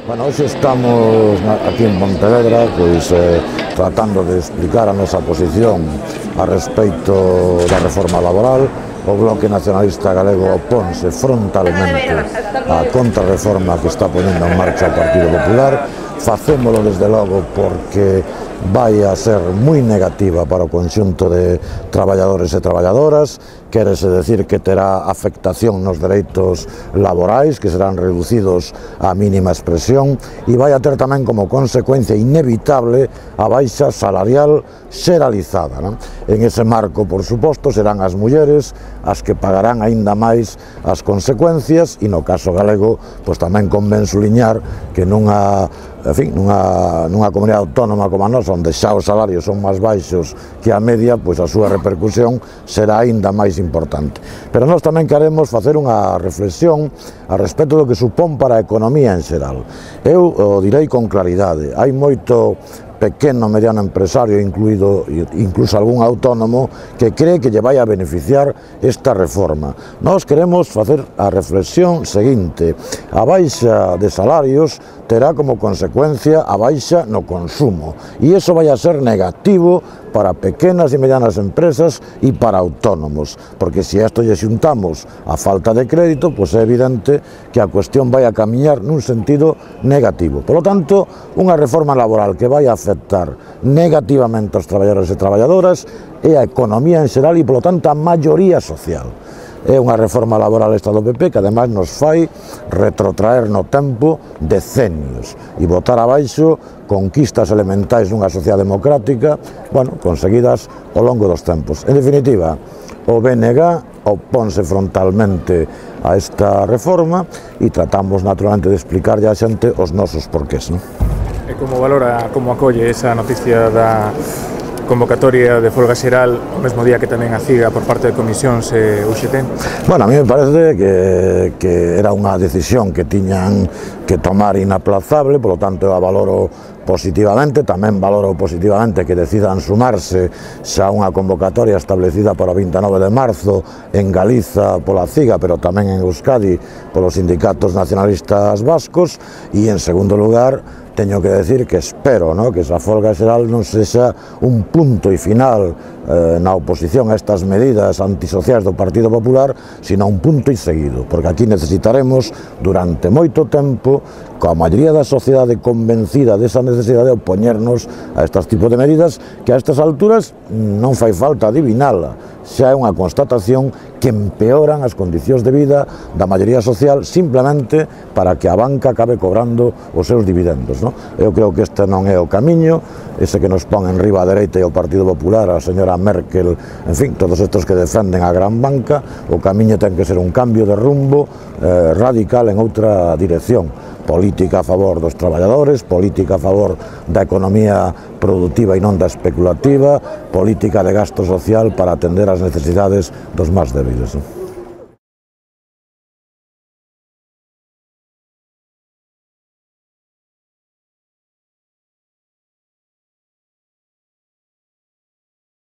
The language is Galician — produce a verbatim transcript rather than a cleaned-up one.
Bueno, hoxe estamos aquí en Pontevedra pois, eh, tratando de explicar a nosa posición a respecto da reforma laboral. O Bloque Nacionalista Galego oponse frontalmente á contrarreforma que está ponendo en marcha o Partido Popular. Facémolo desde logo porque vai a ser moi negativa para o conxunto de traballadores e traballadoras. Quérese decir que terá afectación nos dereitos laborais, que serán reducidos á mínima expresión, e vai a ter tamén como consecuencia inevitable a baixa salarial xeralizada, non? En ese marco, por suposto, serán as mulleres as que pagarán aínda máis as consecuencias, e no caso galego, pois tamén convén suliñar que nunha, en fin, nunha, nunha comunidade autónoma como a nosa, onde xa os salarios son máis baixos que a media, pois a súa repercusión será aínda máis importante. Pero nós tamén queremos facer unha reflexión a respecto do que supón para a economía en xeral. Eu o direi con claridade, hai moito pequeno mediano empresario, incluído incluso algún autónomo, que cree que lle vai a beneficiar esta reforma. Nós queremos facer a reflexión seguinte: a baixa de salarios terá como consecuencia a baixa no consumo, e iso vai a ser negativo para pequenas e medianas empresas e para autónomos, porque se a isto lle xuntamos a falta de crédito, pois é evidente que a cuestión vai a camiñar nun sentido negativo. Por lo tanto, unha reforma laboral que vai a afectar negativamente aos traballadores e traballadoras e a economía en xeral e, polo tanto, a maioría social. É unha reforma laboral esta do P P que ademais nos fai retrotraer no tempo decenios e botar abaixo conquistas elementais nunha sociedade democrática, bueno, conseguidas ao longo dos tempos. En definitiva, o B N G oponse frontalmente a esta reforma e tratamos naturalmente de explicarlle á xente os nosos porqués, non? E como valora, como acolle esa noticia da convocatoria de folga xeral o mesmo día que tamén a CIGA por parte de comisións e U X T? Bueno, a mí me parece que, que era unha decisión que tiñan que tomar inaplazable, polo tanto eu a valoro positivamente. Tamén valoro positivamente que decidan sumarse xa unha convocatoria establecida para o vinte e nove de marzo en Galiza pola CIGA, pero tamén en Euskadi polos sindicatos nacionalistas vascos. E en segundo lugar, teño que decir que espero, ¿no?, que esa folga xeral non sexa un punto e final eh, na oposición a estas medidas antisociais do Partido Popular, sino un punto e seguido, porque aquí necesitaremos durante moito tempo, coa maioría da sociedade convencida desa necesidade de opoñernos a estes tipos de medidas que a estas alturas non fai falta adivinala. Xa é unha constatación que empeoran as condicións de vida da maioría social simplemente para que a banca acabe cobrando os seus dividendos, non? Eu creo que este non é o camiño, ese que nos pon en riba a dereita e o Partido Popular, a señora Merkel, en fin, todos estos que defenden a gran banca. O camiño ten que ser un cambio de rumbo eh, radical en outra dirección. Política a favor dos traballadores, política a favor da economía productiva e non da especulativa, política de gasto social para atender as necesidades dos máis débiles.